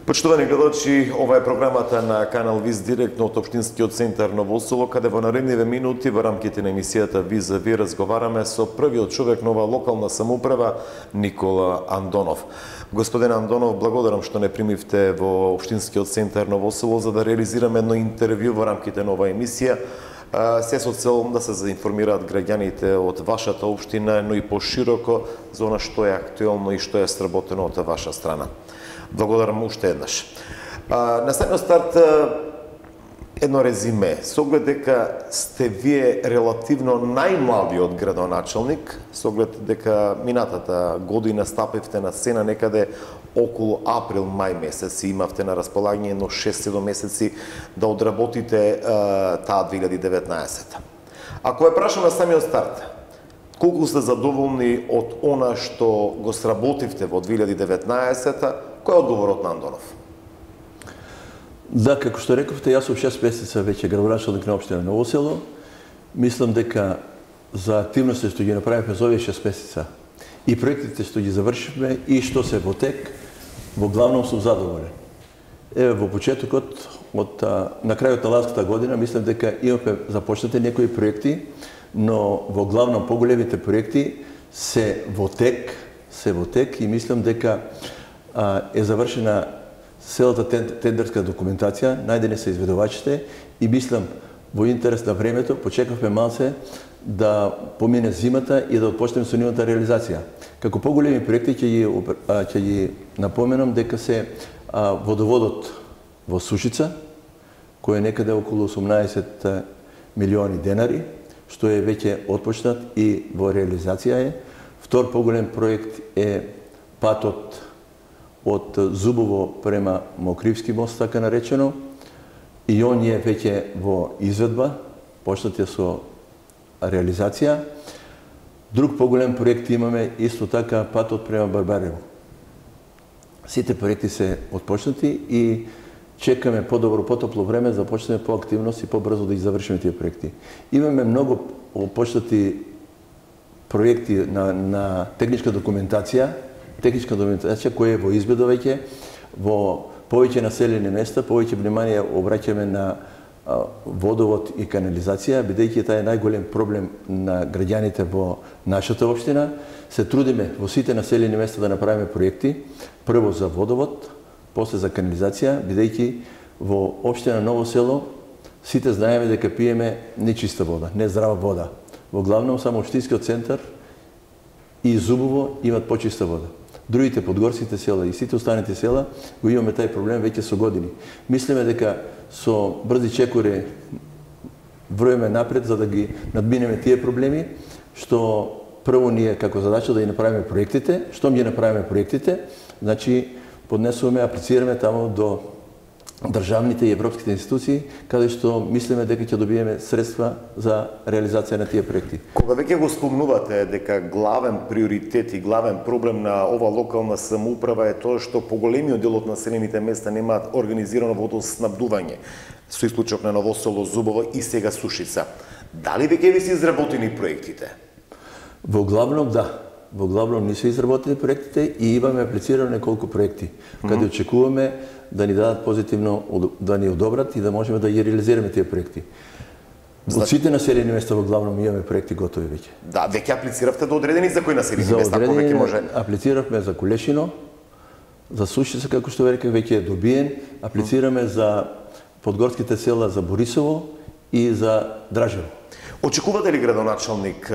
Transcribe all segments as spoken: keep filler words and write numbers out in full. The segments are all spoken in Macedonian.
Почитувани гледачи, ова е програмата на канал Виз директно од Општинскиот центар Ново Село, каде во наредниве минути во рамките на емисијата Виз за Ви разговараме со првиот човек на ова локална самоуправа, Никола Андонов. Господин Андонов, благодарам што не примивте во Општинскиот центар Ново Село за да реализираме едно интервју во рамките на оваа емисија. Се со цел да се заинформираат граѓаните од вашата општина, но и пошироко за она што е актуелно и што е сработено од ваша страна. Благодарам уште еднаш. На самиот старт едно резиме. Со оглед дека сте вие релативно најмладиот градоначалник, со оглед дека минатата година стапивте на сцена некаде околу април-мај месец и имавте на располагање едно шест-седум месеци да одработите таа две илјади и деветнаесета. Ако ве прашам на самиот старт, колку сте задоволни од она што го сработивте во две илјади и деветнаесета, кој е одговорот на Андонов? Да, како што рековте, јас сум шест месеца веќе градоначалник на општина Ново Село. Мислам дека за активности што ги направивме за овие шест месеца и проектите што ги завршивме и што се во тек, во главном сум задоволен. Еве во почетокот од на крајот на ланската година мислам дека имавме започнати некои проекти, но во главном поголемите проекти се во тек, се во тек и мислам дека а, е завршена целата тендерска документација, најдени се изведувачите и мислам во интерес на времето почекавме малце да помине зимата и да отпочнеме со нивната реализација. Како поголеми проекти ќе ги ќе ги напоменам дека се а, водоводот во Сушица, кој е некаде околу осумнаесет милиони денари, што е веќе отпочнат и во реализација е. Втор поголем проект е патот од Зубово према Мокривски мост, така наречено, и он е веќе во изведба, почнат е со реализација. Друг поголем проект имаме исто така патот према Барбарево. Сите проекти се отпочнати и чекаме подобро, потопло време за да почнеме по активност и побрзо да ги завршиме тие проекти. Имаме многу почнати проекти на, на техничка документација, техничка документација која е во изведа веќе, во повеќе населени места, повеќе внимание обраќаме на а, водовод и канализација, бидејќи таа е најголем проблем на граѓаните во нашата општина. Се трудиме во сите населени места да направиме проекти, прво за водовод, после за канализација, бидејќи во општина Ново Село сите знаеме дека пиеме нечиста вода, не здрава вода. Во главном само општинскиот центар и Зубово имат почиста вода. Другите подгорските села и сите останати села го имаме тај проблем веќе со години. Мислиме дека со брзи чекори вроиме напред за да ги надминеме тие проблеми, што прво ние како задача да ги направиме проектите, што ги направиме проектите, значи поднесуваме, аплицираме таму до државните и европските институции, каде што мислиме дека ќе добиеме средства за реализација на тие проекти. Кога веќе го спомнувате дека главен приоритет и главен проблем на ова локална самоуправа е тоа што поголемиот дел од населените места немаат организирано водоснабдување, со исклучок на Ново Село, Зубово и сега Сушица. Дали веќе ви се изработени проектите? Во главном да. Во главном не се изработени проектите и имаме аплицирано неколку проекти, каде mm -hmm. очекуваме да ни дадат позитивно, да ни одобрат и да можеме да ги реализираме тие проекти. Од сите населени места во главном имаме проекти готови веќе. Да, веќе аплициравте до одредени за кои населени места, ако веќе може? Аплициравме за Кулешино, за Сушица, како што рекав, веќе е добиен, аплицираме mm -hmm. за подгорските села за Борисово и за Дражево. Очекувате ли градоначалник,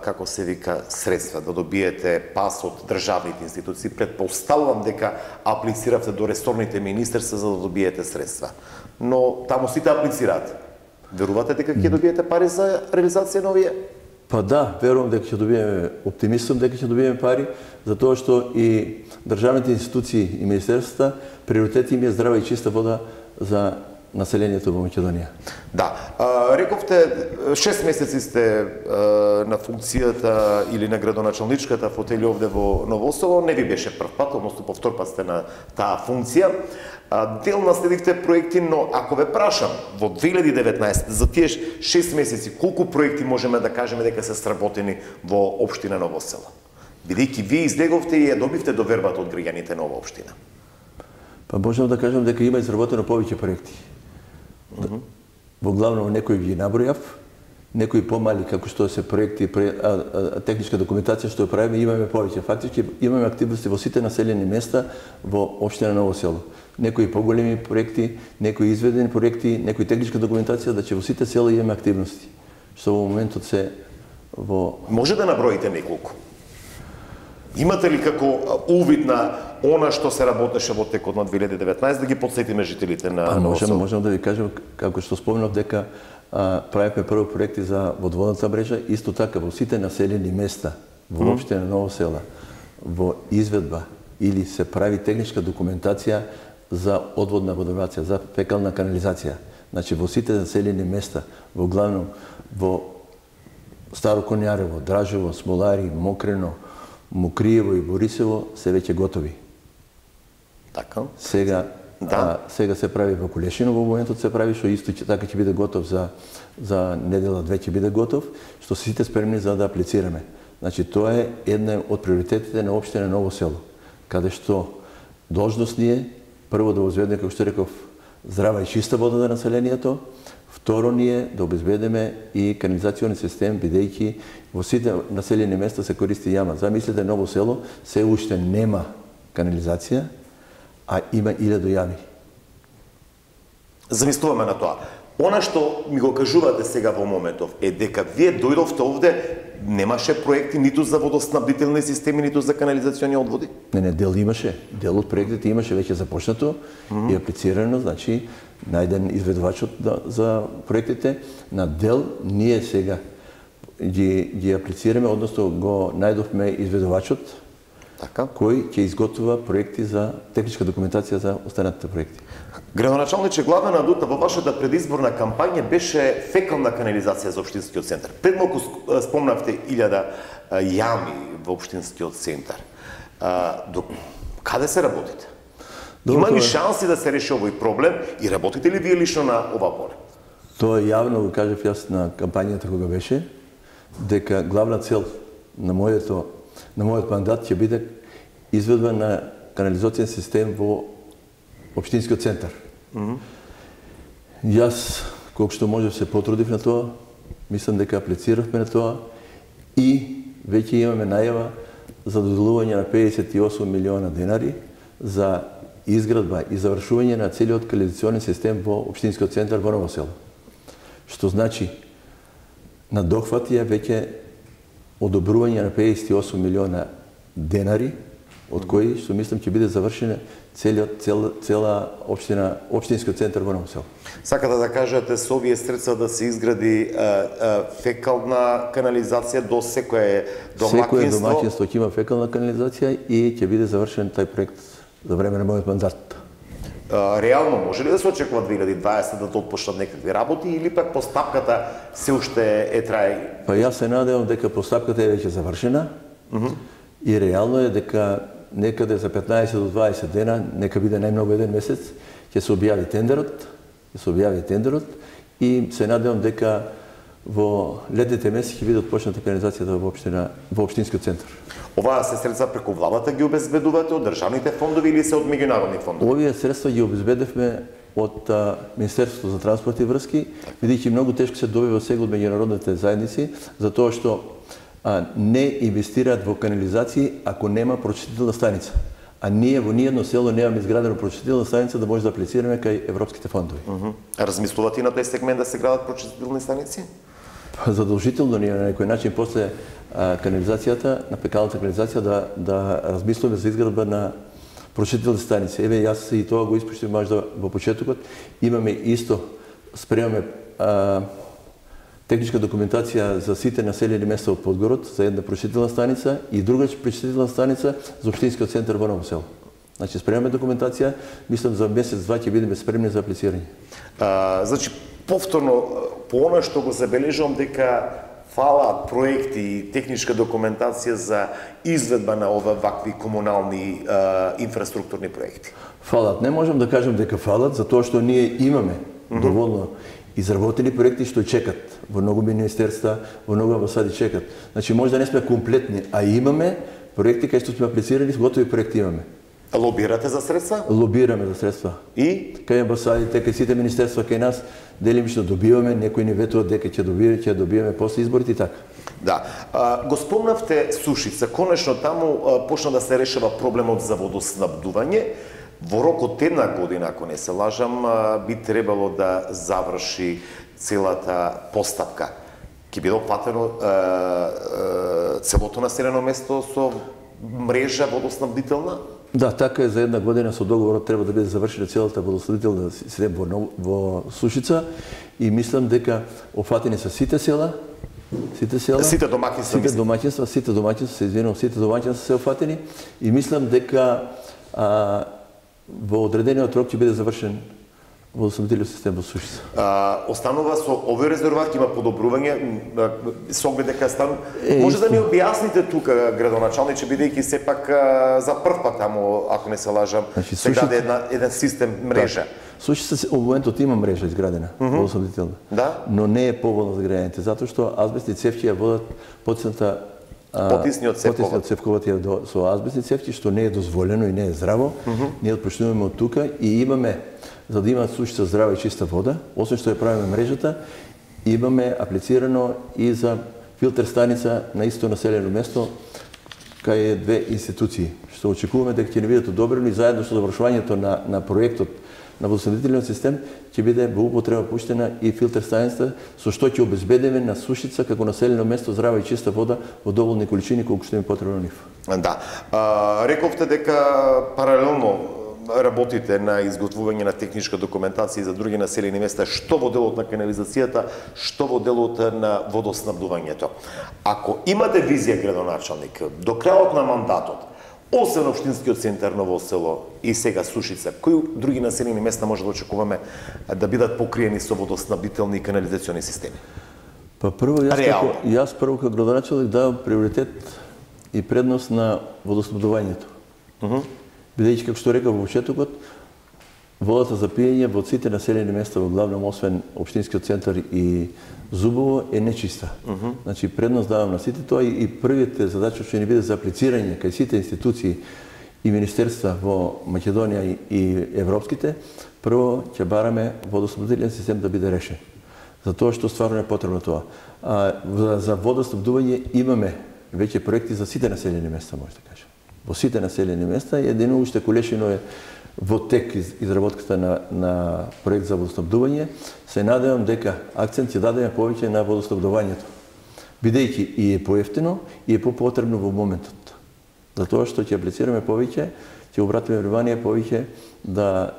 како се вика, средства да добиете пас од државните институции? Предпоставувам дека аплициравте до ресорните министерства за да добиете средства. Но таму сите аплицираат. Верувате дека ќе добиете пари за реализација на овие? Па да, верувам дека ќе добиеме, оптимистам дека ќе добиеме пари, затоа што и државните институции и министерствата приоритет им е здрава и чиста вода за населението во Македонија. Да, а, рековте шест месеци сте а, на функцијата или на градоначалничката фотели овде во Ново Село, не ви беше прв пат, односно повтор пат сте на таа функција. А, дел наследивте проекти, но ако ве прашам во две илјади и деветнаесета за тие шест месеци колку проекти можеме да кажеме дека се сработени во општина Ново Село? Бидејќи вие излеговте и ја добивте довербата од граѓаните на оваа општина. Па можам да кажам дека има изработено повеќе проекти. Mm -hmm. Во главно некои ги набројав, некои помали како што се проекти, а, а, техничка документација што ја правиме, имаме повеќе. Фактички имаме активности во сите населени места во општина Ново село. Некои поголеми проекти, некои изведени проекти, некои техничка документација, да че во сите села имаме активности, што во моментот се во... Може да наброите неколку? Имате ли како увид на она што се работеше во текот на две илјади и деветнаесетта, да ги потсетиме жителите на Ново можем, село? можем да ви кажем, како што спомнав, дека а, правихме прво проекти за водоводната мрежа, исто така во сите населени места, во mm. општина Ново села, во изведба или се прави техничка документација за одводна водоврација, за фекална канализација. Значи во сите населени места, во главном во Старо Конјарево, Дражево, Смолари, Мокрено, Мокриево и Борисево се веќе готови. Така. Сега да. а, сега се прави во Кулешино, во моментот се прави, што исто така ќе биде готов за за недела две ќе биде готов, што се сите спремни за да аплицираме. Значи тоа е една од приоритетите на општина Ново село, каде што должност ни е прво да обезбедиме, како што реков, здрава и чиста вода за населението, второ ни е да обезбедиме и канализационен систем, бидејќи во сите населени места се користи јама. Замислете, Ново село се уште нема канализација, а има илјаду јами. Замислуваме на тоа. Она што ми го кажувате сега во моментов е дека вие дојдовте овде, немаше проекти ниту за водоснабдителни системи, ниту за канализациони одводи? Не, не, дел имаше. Дел од проектите имаше веќе започнато mm -hmm. и аплицирано, значи најден изведувачот за проектите. На дел ние сега ги, ги аплицираме, односно го најдовме изведувачот, така, кој ќе изготвува проекти за техничка документација за останатите проекти. Градоначалниче, главна адута во вашата предизборна кампања беше фекална канализација за општинскиот центар. Пред малку спомнавте илјада јами во општинскиот центар. До каде се работите? Добро, има ли шанси да се реши овој проблем и работите ли вие лично на ова поле? Тоа јавно го кажав јас на кампањата кога беше, дека главна цел на моето на мојот мандат ќе биде изведба на канализацијен систем во општинскиот центар. Mm -hmm. Јас, колку што може, се потрудив на тоа, мислам дека аплициравме на тоа и веќе имаме најава за доделување на педесет и осум милиона денари за изградба и завршување на целиот канализационен систем во општинскиот центар во Ново село. Што значи надохвати ја веќе одобрување на педесет и осум милиона денари, од кои што мислам ќе биде завршена целиот цел, цела општина, општинскиот центар во Ново село. Сакате да кажете со овие средства да се изгради а, а, фекална канализација до секое домаќинство? Секое домаќинство ќе има фекална канализација и ќе биде завршен тај проект за време на мојот мандат. А, реално може ли да се очекува две илјади и дваесетта да отпочнат некакви работи или пак постапката се уште е трај? Па јас се надевам дека постапката е веќе завршена mm -hmm. и реално е дека некаде за петнаесет до дваесет дена, нека биде најмногу еден месец, ќе се објави тендерот, ќе се објави тендерот и се надевам дека во летните месеци ќе биде отпочната канализацијата во општина, во општинскиот центар. Оваа се средства преку владата ги обезбедувате од државните фондови или се од меѓународни фондови? Овие средства ги обезбедевме од а, Министерството за транспорт и врски, бидејќи многу тешко се добива сега од меѓународните заедници, затоа што а, не инвестираат во канализации ако нема прочистителна станица. А ние во ниедно село немаме изградена прочистителна станица да може да аплицираме кај европските фондови. Uh -huh. Размислувате и на тој сегмент да се градат прочистителни станици? Задолжително ние на некој начин после а, канализацијата, на фекалната канализација да да размислуваме за изградба на прочистителни станици. Еве јас и тоа го испуштив можда во почетокот. Имаме исто спремаме а, техничка документација за сите населени места од Подгород за една прочистителна станица и друга прочистителна станица за општинскиот центар во Ново село. Значи спремаме документација, мислам за месец-два ќе бидеме спремни за аплицирање. А, значи повторно по она што го забележувам дека фалаат проекти и техничка документација за изведба на ова вакви комунални а, инфраструктурни проекти. Фалат, не можам да кажам дека фалат, затоа што ние имаме mm -hmm. доволно изработени проекти што чекат во многу министерства, во многу амбасади чекат. Значи може да не сме комплетни, а имаме проекти кај што сме аплицирани, готови проекти имаме. Лобирате за средства? Лобираме за средства. И? Кај амбасадите, кај сите министерства, кај нас, делимично добиваме, некои ни ветуваат дека ќе добиваме, ќе добиваме после изборите и така. Да. А, го спомнавте Сушица. Конечно таму а, почна да се решава проблемот за водоснабдување. Во рок од една година, ако не се лажам, а, би требало да заврши целата постапка. Ќе биде опфатено целото населено место со мрежа водоснабдителна? Да, така е, за една година со договорот треба да биде завршена целата водоснабдителна систем во, во Сушица и мислам дека опфатени се сите села, сите села, сите домаќинства, сите домаќинства, сите домаќинства, се извинувам, сите домаќинства се опфатени и мислам дека а, во одредениот рок ќе биде завршен водоснабдителен систем во Сушица. А, останува со овој резерват има подобрување со оглед дека стан. Е, може исто да ни објасните тука, градоначалниче, бидејќи сепак за прв пат таму, ако не се лажам, значи, се даде една еден систем мрежа. Да. Сушица во моментот има мрежа изградена, mm -hmm. водоснабдителна. Да. Но не е поволна за граѓаните, затоа што азбестни цевки ја водат потисната потисниот цевковат. Потисниот цевковат е до, со азбестни цевки, што не е дозволено и не е здраво. Mm -hmm. Ние отпочнуваме од тука и имаме, за да има Сушица здрава и чиста вода, освен што ја правиме мрежата, имаме аплицирано и за филтер станица на исто населено место кај две институции, што очекуваме дека ќе ни бидат одобрено и заедно со завршувањето на, на проектот на водоснабдителниот систем ќе биде во употреба пуштена и филтер станица, со што ќе обезбедиме на Сушица како населено место здрава и чиста вода во доволни количини колку што им потребно нив. Да. А, рековте дека паралелно работите на изготвување на техничка документација за други населени места, што во делот на канализацијата, што во делот на водоснабдувањето. Ако имате визија, градоначалник, до крајот на мандатот, освен општинскиот центар Ново село и сега Сушица, кои други населени места може да очекуваме да бидат покриени со водоснабдителни и канализациони системи? Па прво, јас, како, јас прво како градоначалник давам приоритет и предност на водоснабдувањето. Uh -huh. Бидејќи, како што рекав во почетокот, водата за пиење во сите населени места, во главном освен општинскиот центар и Зубово, е нечиста. Uh -huh. Значи, предност давам на сите тоа и, и првите задачи што ни биде за аплицирање кај сите институции и министерства во Македонија и, и европските, прво ќе бараме водоснабдителен систем да биде решен. Затоа што стварно е потребно тоа. А, за водоснабдување имаме веќе проекти за сите населени места, може да кажем. Во сите населени места, едино уште колешино е во тек изработката на, на проект за водоснабдување. Се надевам дека акцент ќе дадеме повеќе на водоснабдувањето. Бидејќи и е поевтино и е попотребно во моментот. Затоа што ќе аплицираме повеќе, ќе обратиме внимание повеќе да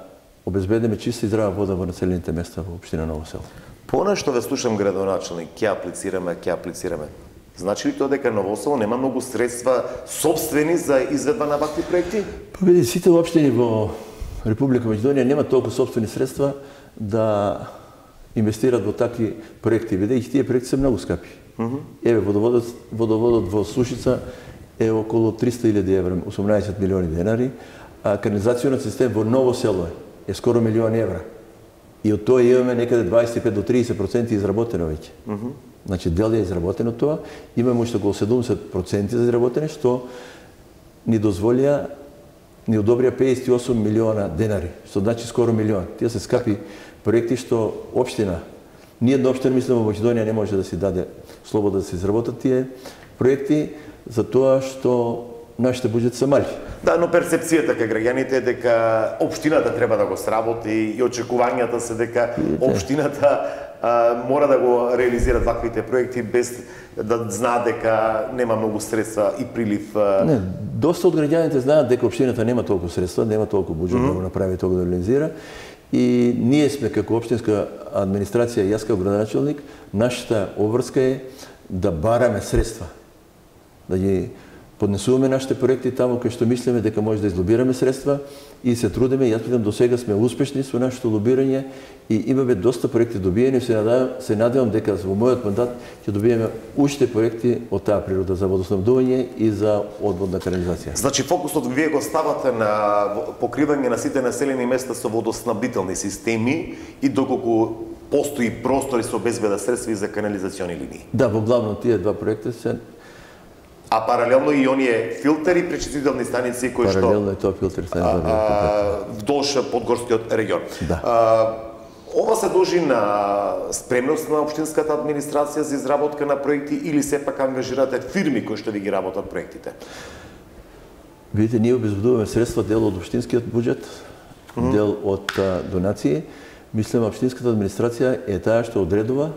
обезбедиме чиста и здрава вода во населените места во општина Ново село. Понешто ве слушам, градоначалник, ќе аплицираме, ќе аплицираме. Значи ли тоа дека Ново село нема многу средства собствени за изведба на вакви проекти? Па види, сите општини во Република Македонија нема толку собствени средства да инвестират во такви проекти, бидејќи тие проекти се многу скапи. Uh -huh. Еве, водоводот, водоводот во Сушица е околу триста илјади евра, осумнаесет милиони денари, а канализационот систем во Ново село е скоро милион евра. И од тоа имаме некаде дваесет и пет до триесет проценти изработено веќе. Uh -huh. Значи, дел е изработено тоа, имаме уште околу седумдесет проценти за изработене, што ни дозволија, ни одобрија пеесет и осум милиона денари, што значи скоро милион. Тие се скапи проекти што општина, ниједна општина, мислам, во Македонија не може да си даде слобода да се изработат тие проекти, за тоа што нашите буџети се мали. Да, но перцепцијата кај граѓаните е дека општината треба да го сработи и очекувањата се дека општината а, мора да го реализира ваквите проекти без да знаат дека нема многу средства и прилив. А... Не, доста од граѓаните знаат дека општината нема толку средства, нема толку буџет mm -hmm. да го направи тоа да реализира. И ние сме како општинска администрација, јас како градоначалник, нашата обврска е да бараме средства, да ги поднесуваме нашите проекти таму кај што мислиме дека може да излобираме средства и се трудиме. Јас мислам до сега сме успешни со нашето лобирање и имаме доста проекти добиени. Се надевам, се надевам дека во мојот мандат ќе добиеме уште проекти од таа природа за водоснабдување и за одводна канализација. Значи фокусот вие го ставате на покривање на сите населени места со водоснабдителни системи и доколку постои простори со обезбеда средства и за канализациони линии. Да, во главно тие два проекти се А паралелно и оние филтери, пречистителни станици кои што Паралелно е тоа филтер станици вдолж подгорскиот регион. Да. А, ова се дължи на спремност на општинската администрација за изработка на проекти или сепак ангажирате фирми кои што ви ги работат проектите? Видите, ние обезбедуваме средства, дел од општинскиот буџет, mm -hmm. дел од а, донации. Мислам, општинската администрација е таа што одредува,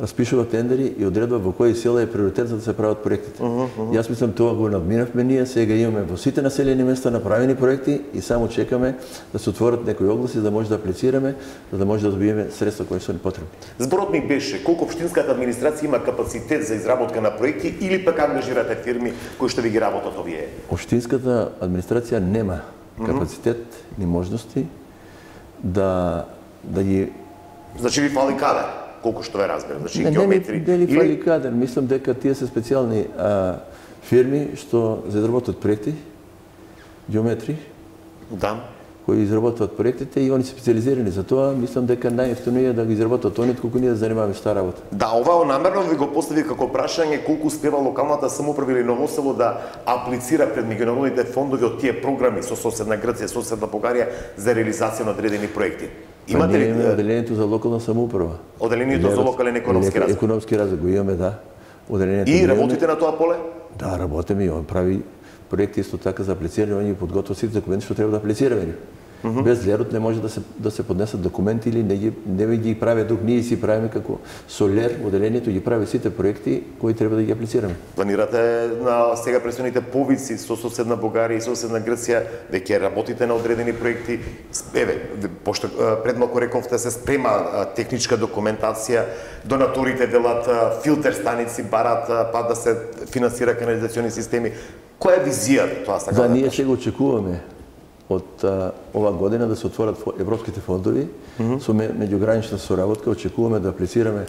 распишува тендери и одредува во кои села е приоритет за да се прават проектите. Mm -hmm. Јас мислам тоа го надминавме ние, сега имаме во сите населени места направени проекти и само чекаме да се отворат некои огласи за да може да аплицираме, за да може да добиеме средства кои се ни потребни. Зборот ми беше колку општинската администрација има капацитет за изработка на проекти или пак ангажирате фирми кои што ви ги работат овие? Општинската администрација нема капацитет mm -hmm. ни можности да да ги Значи ви фали кадар, колку што ве разберам, значи не, геометри. Не, не ли фали кадар, мислам дека тие се специјални а, фирми што за изработат проекти, геометри, да, кои изработват проектите и они се специализирани за тоа, мислам дека најефтино е да ги изработат они отколку ние да занимаваме с таа работа. Да, ова намерно ви го постави како прашање колку успева локалната самоуправа или Ново село да аплицира пред меѓународните фондови од тие програми со соседна Грција, соседна Бугарија за реализација на одредени проекти. Имате ли одделението за локална самоуправа? Одделението за локален економски развој. Економски развој го имаме, да. Одделението. И работите на тоа поле? Да, работиме и он прави проекти исто така за аплицирање, он ги подготвува сите документи што треба да аплицираме. Mm -hmm. Без лерот не може да се да се поднесат документи или не ги не ги прави дук, ние си правиме како Солер, одделението ги прави сите проекти кои треба да ги аплицираме. Планирате на сега предстојните повици со соседна Бугарија и соседна Грција веќе работите на одредени проекти. Еве, пошто пред малку рековте се спрема техничка документација, донаторите велат филтер станици барат па да се финансира канализациони системи. Која е визијата тоа сакам да, да ние сега очекуваме од а, ова година да се отворат европските фондови mm -hmm. со меѓугранична соработка. Очекуваме да аплицираме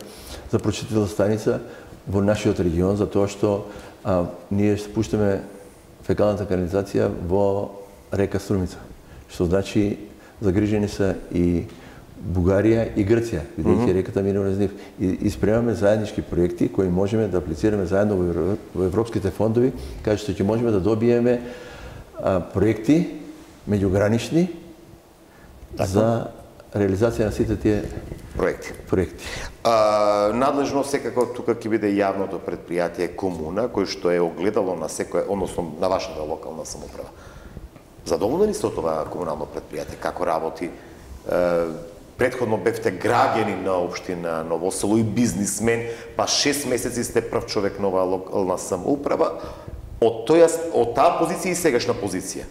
за прочистителна станица во нашиот регион, затоа што а, ние спуштаме фекалната канализација во река Струмица, што значи загрижени се и Бугарија и Грција, бидејќи mm -hmm. реката минува низ нив. И, и спремаме заеднички проекти кои можеме да аплицираме заедно во, во европските фондови, каде што ќе можеме да добиеме а, проекти меѓугранични за реализација на сите тие проекти. проекти. А, надлежно секако тука ќе биде јавното предпријатие Комуна, кој што е огледало на секој, односно на вашата локална самоуправа. Задоволни ли сте од това комунално предпријатие, како работи? Претходно бевте граѓани на општина Ново село и бизнисмен, па шест месеци сте прв човек на оваа локална самоуправа. Од тоја од таа позиција и сегашна позиција.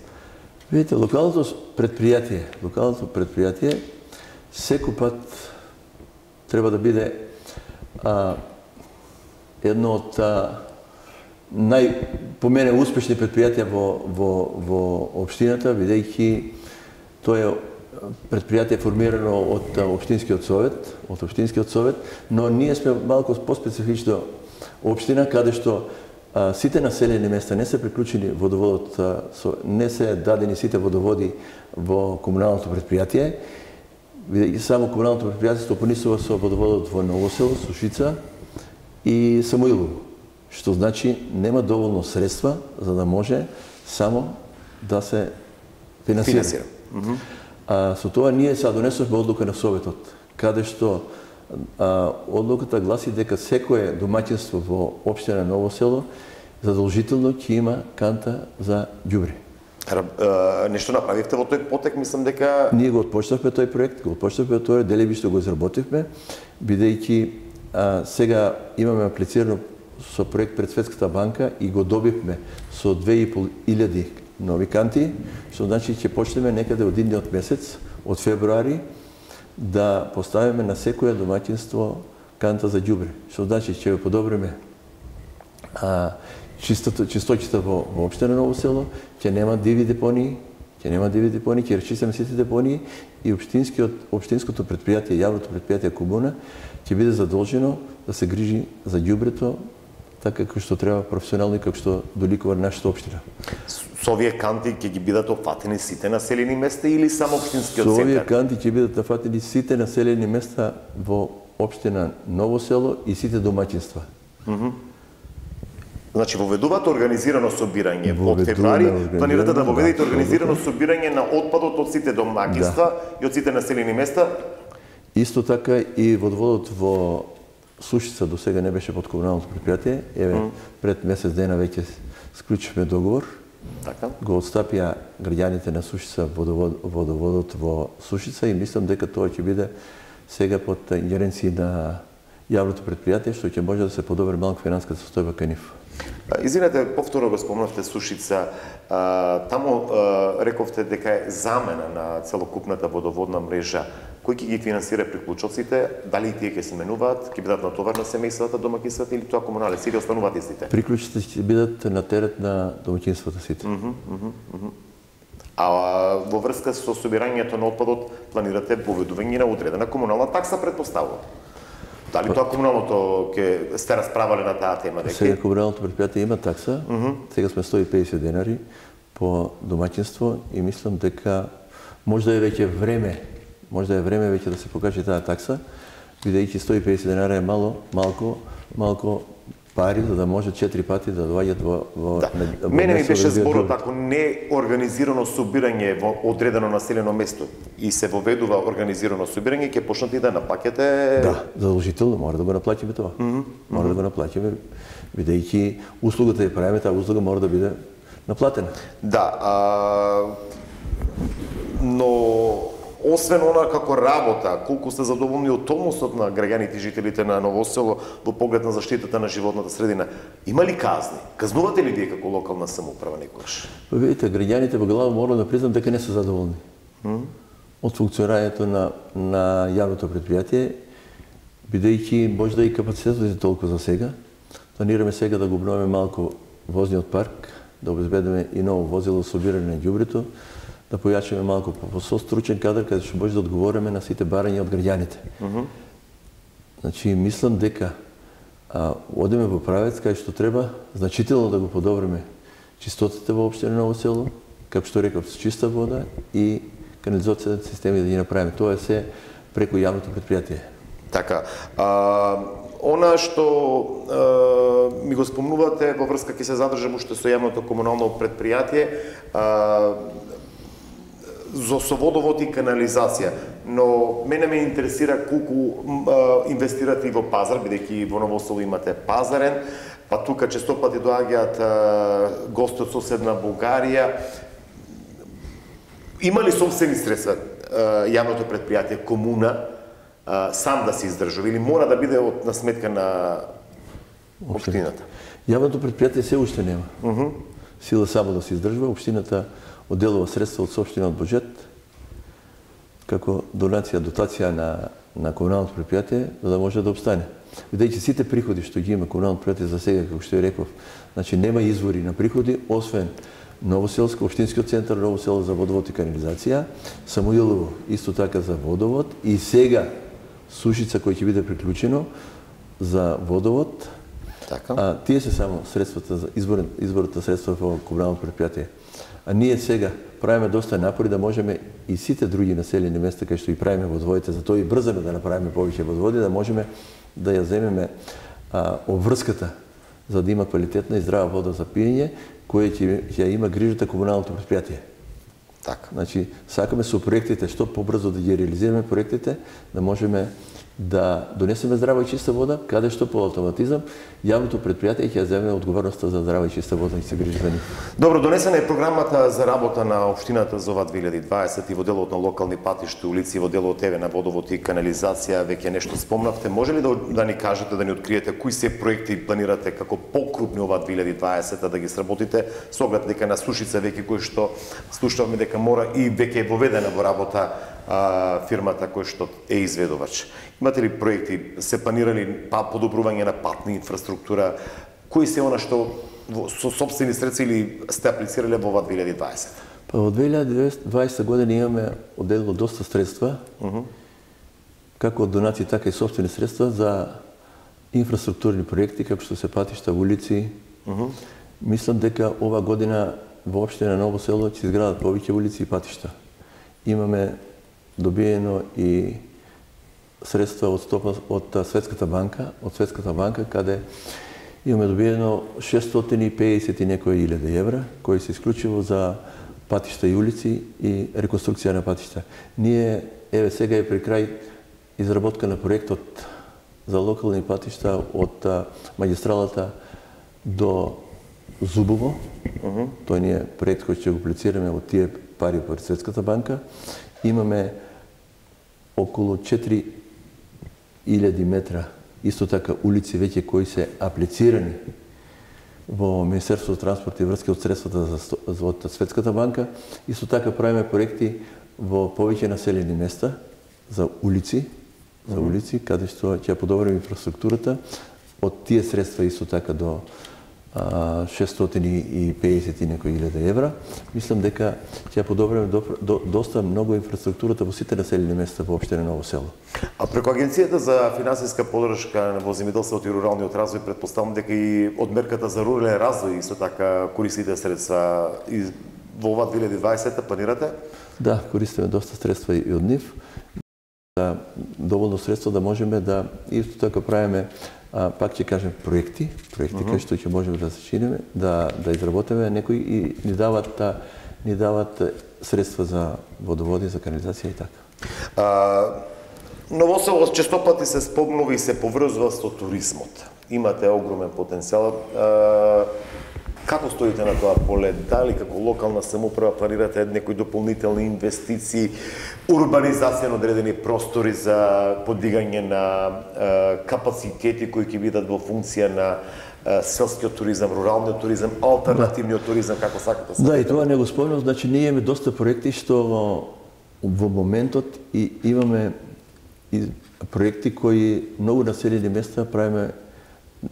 Видите, локалното предпријатие, локалното предпријатие секој пат треба да биде а, едно од а, нај по мене успешни предпријатија во во во општината, бидејќи тоа е предпријатие формирано од општинскиот совет, од општинскиот совет, но ние сме малку поспецифична општина каде што а, сите населени места не се приклучени водоводот, а, со, не се дадени сите водоводи во комуналното предпријатие. И само комуналното предпријатие стопанисува со водоводот во Ново село, Сушица и Самуилово, што значи нема доволно средства за да може само да се финансира. Финансира. Mm -hmm. А, со тоа ние се донесовме одлука на Советот, каде што а, одлуката гласи дека секое домаќинство во општина Ново село задолжително ќе има канта за ѓубре. Нешто направивте во тој потек, мислам дека... Ние го отпочнавме тој проект, го отпочнавме тој, делеби што го изработивме, бидејќи а, сега имаме аплицирано со проект пред Светската банка и го добивме со две и пол илјади нови канти, што значи ќе почнеме некаде од идниот месец, од февруари, да поставиме на секоја домаќинство канта за ѓубре. Што значи ќе го подобриме а, чистото, чистотите во, во општина Ново село, ќе нема диви депонии, ќе нема диви депонии, ќе речистиме сите депонии и општинскиот општинското предпријатие, јавното предпријатие Комуна ќе биде задолжено да се грижи за ѓубрето така како што треба професионално и како што доликува нашата општина. Со овие канти ќе ги бидат опфатени сите населени места или само општинскиот центар? Со овие канти ќе бидат опфатени сите населени места во општина Ново село и сите домаќинства. Mm -hmm. Значи, воведувате организирано собирање. Од февруари планирате да воведете организирано собирање на отпадот од сите домаќинства и од сите населени места? Исто така и водоводот во Сушица до сега не беше под комуналното предпријатие. Еве, mm. пред месец дена веќе склучивме договор. Така. Го отстапија граѓаните на Сушица водовод, водоводот во Сушица и мислам дека тоа ќе биде сега под ингеренција на јавното предпријатие, што ќе може да се подобри малку финансиската состојба кај нив. Извинете, повторно го спомнавте Сушица. Таму рековте дека е замена на целокупната водоводна мрежа. Кој ќе ги финансира приклучоците? Дали тие ќе се менуваат, ќе бидат на товар на семејствата, домаќинствата или тоа комуналеци или остануваат истите? Приклучите ќе бидат на терет на домаќинствата сите. Mm -hmm, mm -hmm. А во врска со собирањето на отпадот планирате поведување на одредена комунална такса, предпоставувам? Дали тоа комуналното ќе сте расправале на таа тема? Дека... Сега комуналното предпријатие има такса, mm -hmm. сега сме сто и педесет денари по домаќинство и мислам дека може да е веќе време, може да е време веќе да се покаже таа такса, бидејќи сто и педесет денари е мало, малку, малку пари за да може четири пати да доаѓат во во да. во Мене ми беше зборот, ако не организирано собирање во одредено населено место и се воведува организирано собирање, ќе почнете и да наплаќате. Да, задолжително мора да го наплатиме тоа. Mm -hmm. Мора да го наплатиме, бидејќи услугата ја правиме, таа услуга мора да биде наплатена. Да, а... но освен она како работа, колку сте задоволни од односот на граѓаните и жителите на Ново Село во поглед на заштитата на животната средина, има ли казни? Казнувате ли вие како локална самоуправа некогаш? Па видите, граѓаните во глава мора да признам дека не се задоволни mm? од функционирањето на на јавното предпријатие, бидејќи може да и капацитетот е толку за сега. Планираме сега да го обновиме малку возниот парк, да обезбедиме и ново возило собирање на ѓубрето, да појачиме малку по стручен кадар каде што може да одговориме на сите барања од граѓаните. Mm -hmm. Значи, мислам дека а, одиме во правец кај што треба значително да го подобриме чистотата во општина Ново Село, како што реков, с чиста вода и канализацијните системи да ги направиме. Тоа е се преку јавното предпријатие. Така. А, она што а, ми го спомнувате во врска ќе се задржам уште со јавното комунално предпријатие, а, за со водовод и канализација, но мене ме интересира колку а, инвестирате и во пазар, бидејќи во Ново Село имате пазарен, па тука често пати доаѓаат гости од соседна Бугарија. Има ли собствени средства а, јавното предпријатие, комуна, а, сам да се издржува или мора да биде од на сметка на општината? Јавното предпријатие се уште нема. Uh -huh. Сила само да се издржува, општината одделува средства од сопствениот буџет како донација, дотација на на комуналното предпријатие за да може да обстане. Бидејќи сите приходи што ги има комуналното предпријатие за сега, како што ја реков, значи нема извори на приходи освен Новоселско, општинскиот центар Ново Село за водовод и канализација, Самуилово исто така за водовод и сега Сушица кој ќе биде приклучено за водовод. Така. А тие се само средствата за избор изборот на средства во комуналното предпријатие. А ние сега правиме доста напори да можеме и сите други населени места кај што и правиме водоводите, затоа и брзаме да направиме повеќе водоводи, да можеме да ја земеме а, обврската за да има квалитетна и здрава вода за пиење, која ќе ќе има грижата комуналното предпријатие. Така. Значи, сакаме со проектите што побрзо да ги реализираме проектите, да можеме да донесеме здрава и чиста вода, каде што по автоматизам јавното предпријатие ќе земе одговорноста за здрава и чиста вода и се грижи за нив. Добро, донесена е програмата за работа на општината за ова две илјади и дваесет и во делот на локални патишта, улици, во делот еве на водовод и канализација, веќе нешто спомнавте. Може ли да, да ни кажете, да ни откриете кои се проекти планирате како покрупни ова две илјади и дваесета да ги сработите, со оглед дека на Сушица веќе кој што слушавме дека мора и веќе е воведена во работа а, фирмата кој што е изведувач. Имате ли проекти, се планирали па подобрување на патна инфраструктура, кои се она што со сопствени средства или сте аплицирале во ова две илјади и дваесета? Па во две илјади и дваесета година имаме одделило доста средства, uh -huh. како од донации, така и сопствени средства за инфраструктурни проекти, како што се патишта, улици. Uh -huh. Мислам дека ова година во општина Ново Село ќе изградат повеќе улици и патишта. Имаме добиено и средства од стопа од Светската банка, од Светската банка, каде Имаме добиено шестстотини и педесет и некои илјади евра, кои се исклучиво за патишта и улици и реконструкција на патишта. Ние, еве сега е при крај изработка на проектот за локални патишта од магистралата до Зубово. Uh-huh. Тој ни е проект кој ќе го аплицираме од тие пари по Светската банка. Имаме околу четири илјади метра исто така улици веќе кои се аплицирани во Министерството за транспорт и врски од средствата за од Светската банка. Исто така правиме проекти во повеќе населени места за улици, за улици каде што ќе подобриме инфраструктурата од тие средства исто така до шестстотини и педесет и некои илјади евра. Мислам дека ќе подобриме до, до, доста многу инфраструктурата во сите населени места во општина Ново село. А преку Агенцијата за финансиска поддршка во земјоделството и руралниот развој, претпоставам дека и од мерката за рурален развој исто така користите средства и во ова две илјади и дваесета планирате? Да, користиме доста средства и од нив. Да, доволно средства да можеме да исто така правиме, а, пак ќе кажем, проекти, проекти uh-huh. кои што ќе можеме да сачиниме, да да изработиме некои и ни дават та, ни дават средства за водоводи, за канализација и така. А, Ново село често пати се спомнува и се поврзува со туризмот. Имате огромен потенцијал. А, како стоите на тоа поле? Дали како локална самоуправа планирате некои дополнителни инвестиции, урбанизација на одредени простори за подигање на е, капацитети кои ќе бидат во функција на е, селскиот туризам, руралниот туризам, алтернативниот да. туризам, како сакате? Да, и тоа не го спомнам, значи ние имаме доста проекти што во, во моментот и имаме и проекти кои многу населени места правиме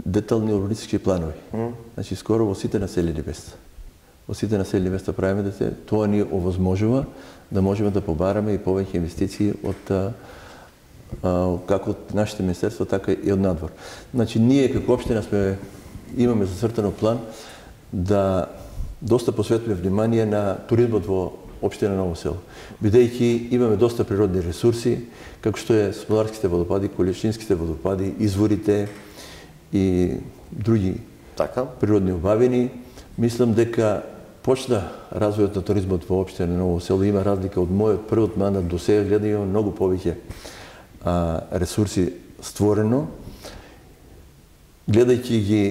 детални урбанистички планови. Mm. Значи скоро во сите населени места. Во сите населени места правиме дете, тоа ни овозможува да можеме да побараме и повеќе инвестиции од а, а, како од нашите министерства, така и од надвор. Значи ние како општина сме имаме зацртано план да доста посветиме внимание на туризмот во општина Ново село. Бидејќи имаме доста природни ресурси, како што е Смоларските водопади, Колешинските водопади, изворите и други така природни убавини. Мислам дека почна развојот на туризмот во општина Ново село. Има разлика од мојот првиот мандат до сега, гледа има многу повеќе а, ресурси створено. Гледајќи ги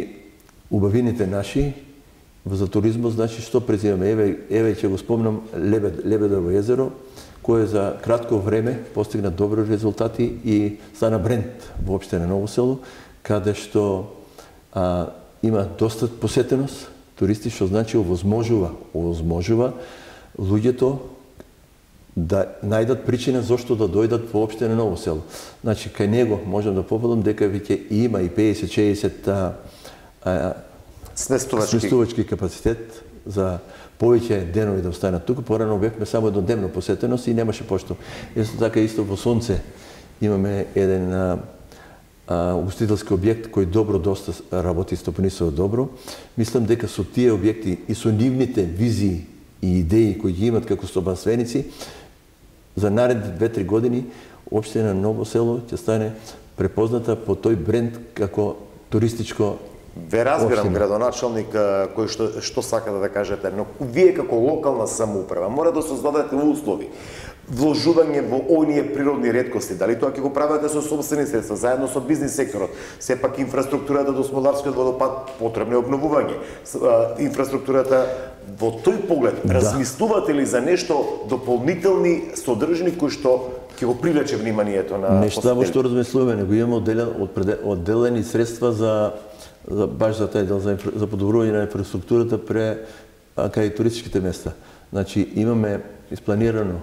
убавините наши за туризмот, значи што презимаме? Еве, еве ќе го спомнам Лебед, Лебедово езеро, кое за кратко време постигна добри резултати и стана бренд во општина Ново село, каде што а, има доста посетеност, туристи, што значи овозможува, овозможува луѓето да најдат причина зошто да дојдат во општина Ново село. Значи, кај него можам да победам дека веќе има и педесет-шеесет а, а, сместувачки. сместувачки капацитет за повеќе денови да останат тука. Порано бевме само еднодневно посетеност и немаше пошто. Исто така исто во Сонце имаме еден а, а, угостителски објект кој добро доста работи, стопанисува добро. Мислам дека со тие објекти и со нивните визии и идеи кои ги имат како стопанственици, за наредни две-три години општина Ново село ќе стане препозната по тој бренд како туристичко. Ве разбирам, градоначалник, кој што, што сакате да кажете, но вие како локална самоуправа мора да создадете услови, вложување во оние природни реткости, дали тоа ќе го правите со собствени средства, заедно со бизнис секторот. Сепак инфраструктурата до Смоларскиот водопад потребно е обновување. Инфраструктурата во тој поглед, да. Размислувате ли за нешто дополнителни содржини кои што ќе го привлече вниманието на нешта во што размислуваме, него имаме одделен, одделени средства за за баш за тај дел за, за подобрување на инфраструктурата пре кај туристичките места. Значи имаме испланирано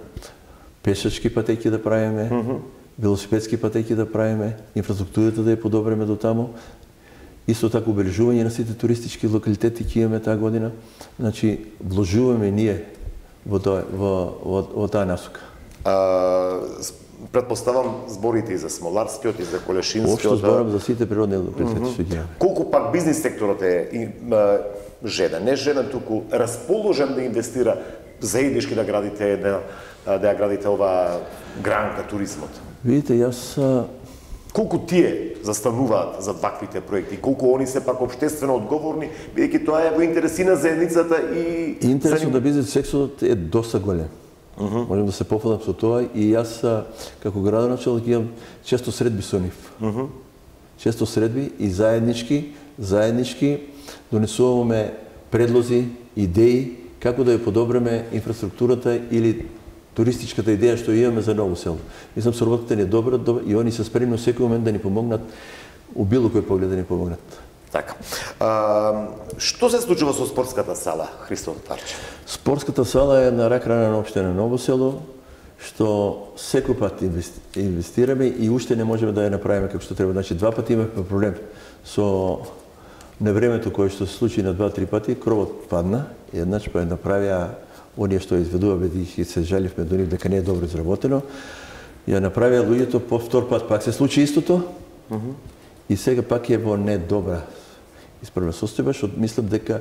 пешачки патеки да правиме, mm-hmm. велосипедски патеки да правиме, инфраструктурата да ја подобриме до таму. Исто така обележување на сите туристички локалитети ќе имаме таа година. Значи вложуваме ние во тоа во во, во таа насока. А, Предпоставам зборите и за Смоларскиот и за Колешинскиот. Општо зборам за сите природни локалитети што ги имаме. Колку пак бизнис секторот е жеден, не жеден, туку расположен да инвестира заеднички да градите да, да ја градите оваа гранка туризмот? Видите, јас Колку тие застануваат за ваквите проекти, колку они се пак општествено одговорни, бидејќи тоа е во интерес и на заедницата и... Интересот на бизнес секторот е доста голем. Uh -huh. Можем да се пофалам со тоа и јас како градоначелник имам често средби со нив. Uh -huh. Често средби и заеднички, заеднички донесуваме предлози, идеи како да ја подобриме инфраструктурата или туристичката идеја што имаме за Ново село. Мислам, соработката ни е добра, добра и они се спремни секој момент да ни помогнат, у било кој поглед да ни помогнат. Така. А, што се случува со спортската сала, Христо Тарчев? Спортската сала е на рак рана на општина Ново село, што секој пат инвестираме и уште не можеме да ја направиме како што треба. Значи, два пати имавме проблем со невремето кое што се случи на два-три пати, кровот падна, и еднаш па ја направија оние што изведува, бидејќи се жаливме до нив дека не е добро изработено, ја направија луѓето, по втор пат пак се случи истото, uh -huh. и сега пак е во недобра исправна состојба, што мислам дека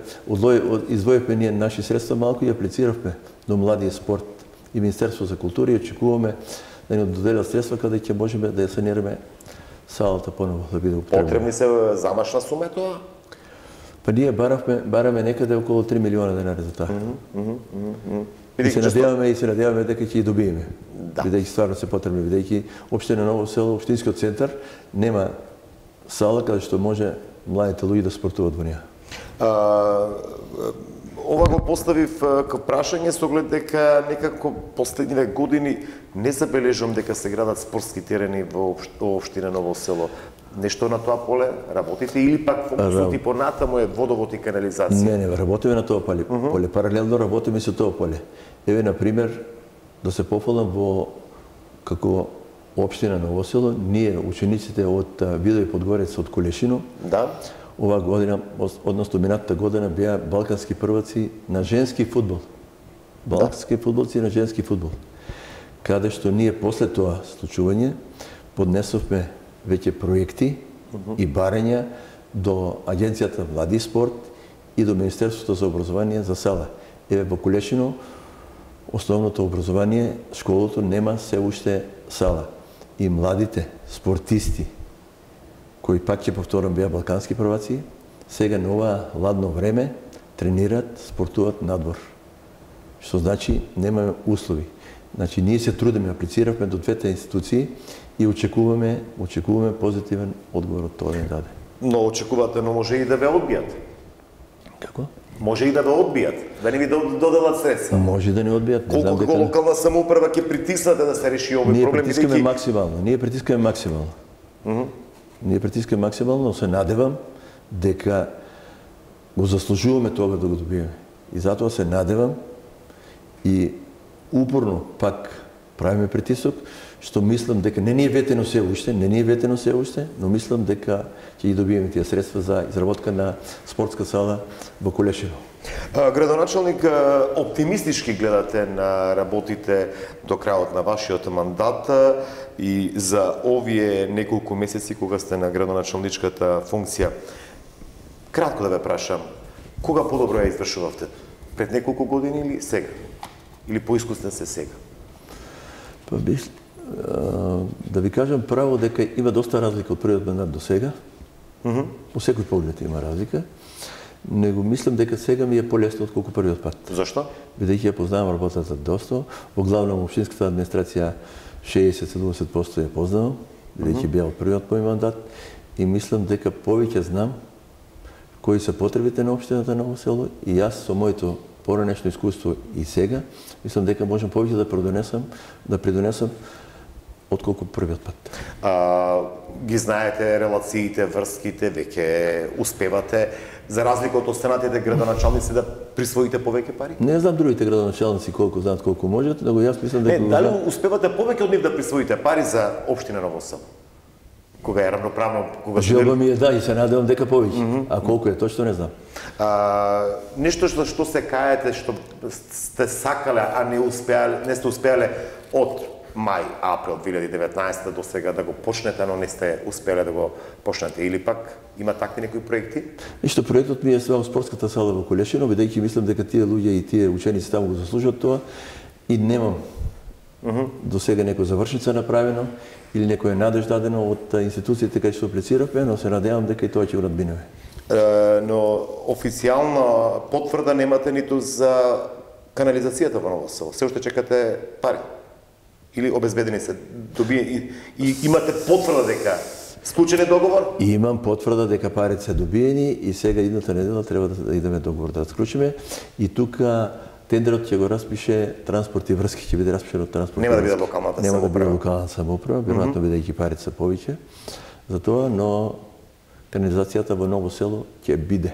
издвоивме ние наши средства малку и аплициравме до младиот спорт и Министерство за култура и очекуваме да ни доделат средства каде ќе можеме да ја санираме салата поново да биде употребна. Потребни се замашна сума е тоа? Па ние баравме, бараме некаде околу три милиона денари за тоа. Mm -hmm, mm -hmm. И се надеваме и се надеваме дека ќе ги добиеме. Да. Бидејќи стварно се потребни, бидејќи општина Ново село, општинскиот центар нема сала каде што може младите луѓе да спортуваат во неа. Ова го поставив како прашање со оглед дека некако последниве години не забележувам дека се градат спортски терени во општина Ново село. Нешто на тоа поле работите или пак фокусот и понатаму е водовод и канализација? Не, не, работиме на тоа поле. Uh -huh. поле. Паралелно работиме со тоа поле. Еве, на пример, да се пофалам во како општина Ново село, ние учениците од Видој Подгорец од Колешино, да, оваа година, односно минатата година, беа балкански прваци на женски фудбал. Балкански да. фудбалци на женски фудбал. Каде што ние после тоа случување поднесовме веќе проекти uh -huh. и барања до Агенцијата Млади спорт и до Министерството за образование за сала. Еве во Колешино основното образование, школото нема се уште сала. И младите спортисти, кои пак ќе повторам беа балкански прваци, сега на ова ладно време тренираат, спортуваат надвор. Што значи немаме услови. Значи ние се трудиме, аплициравме до двете институции и очекуваме, очекуваме позитивен одговор од тоа да даде. Но очекувате, но може и да ве одбијат. Како? Може и да ве одбијат, да не ви доделат средства. Може да не одбијат. Не Колку дека... локална самоуправа ќе притиснате да се реши овој ние проблем? Ние притискаме бидејќи... максимално. Ние притискаме максимално. Uh -huh. Ние притискаме максимално, но се надевам дека го заслужуваме тоа да го добиеме. И затоа се надевам и упорно пак правиме притисок, што мислам дека не ни е ветено се уште, не ни е ветено се уште, но мислам дека ќе ги добиеме тие средства за изработка на спортска сала во Колешино. Градоначалник, оптимистички гледате на работите до крајот на вашиот мандат и за овие неколку месеци кога сте на градоначалничката функција. Кратко да ве прашам, кога подобро ја извршувавте? Пред неколку години или сега? Или поискусен се сега? Па бих, да ви кажам право дека има доста разлика од првиот мандат до сега. Uh -huh. По секој поглед има разлика. Него мислам дека сега ми е полесно отколку првиот пат. Зашто? Бидејќи ја познавам работата доста, во главном општинската администрација шеесет до седумдесет проценти ја познавам, бидејќи беа од првиот мој мандат и мислам дека повеќе знам кои се потребите на општината Ново село и јас со моето поранешно искуство и сега, мислам дека можам повеќе да придонесам, да придонесам отколку првиот пат. А, ги знаете релациите, врските, веќе успевате, за разлика од останатите градоначалници, да присвоите повеќе пари? Не знам другите градоначалници колку знаат колку можат, но јас мислам дека... Не, дали успевате повеќе од нив да присвоите пари за општина Ново село? Кога е равноправно, кога желба ми е да и се надевам дека повеќе, mm -hmm. а колку е точно не знам. А, нешто што што се каете, што сте сакале, а не успеале, не сте успеале од мај, април две илјади и деветнаесета до сега да го почнете, но не сте успеле да го почнете, или пак има такви некои проекти? Ништо, проектот ми е свеа спортската сала во Колешино, бидејќи мислам дека тие луѓе и тие ученици таму го заслужуваат тоа и немам до сега некоја завршница направено или некоја надеж дадено од институциите кај што аплициравме, но се надевам дека и тоа ќе го надминеме. Но официјална потврда немате ниту за канализацијата во Ново село. Се уште чекате пари. Или обезбедени се, доби и, и имате потврда дека склучен е договор? И имам потврда дека парите се добиени и сега идната недела треба да идеме договор да склучиме и тука тендерот ќе го распише транспорт и врски, ќе биде распишен од транспорт. Нема да биде локалната самоуправа. Нема да биде самоуправа. локална самоуправа, веројатно бидејќи парите се повеќе за тоа, но канализацијата во Ново село ќе биде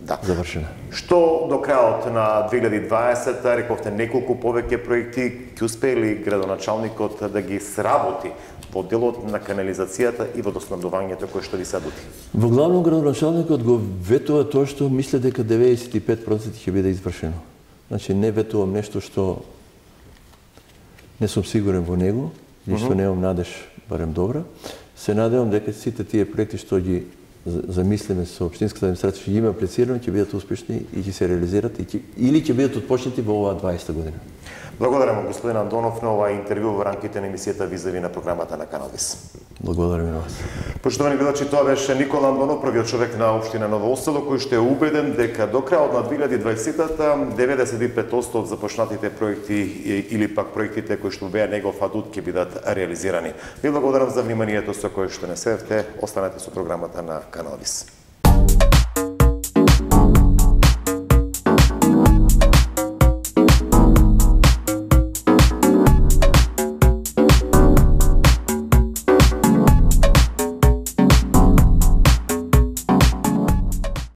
Да. завршена. Што до крајот на две илјади и дваесета, рековте неколку повеќе проекти, ќе успее ли градоначалникот да ги сработи во делот на канализацијата и водоснабдувањето кој што ви се дути? Во главно градоначалникот го ветува тоа што мисле дека деветдесет и пет проценти ќе биде извршено. Значи не ветувам нешто што не сум сигурен во него, и што немам надеж барем добра. Се надевам дека сите тие проекти што ги замислиме со општинската администрација што ги има аплицирано ќе бидат успешни и ќе се реализират и ќе, или ќе бидат отпочнати во оваа дваесета година. Благодарам господин Андонов на ова интервју во рамките на емисијата Визави на програмата на Канал Вис. Благодарам и на вас. Поштовани гледачи, тоа беше Никола Андонов, првиот човек на општина Ново Осело, кој што е убеден дека до крајот на две илјади и дваесета деветдесет и пет проценти од започнатите проекти или пак проектите кои што беа негов адут ќе бидат реализирани. Ви благодарам за вниманието со кое што не следевте. Останете со програмата на Канал Вис.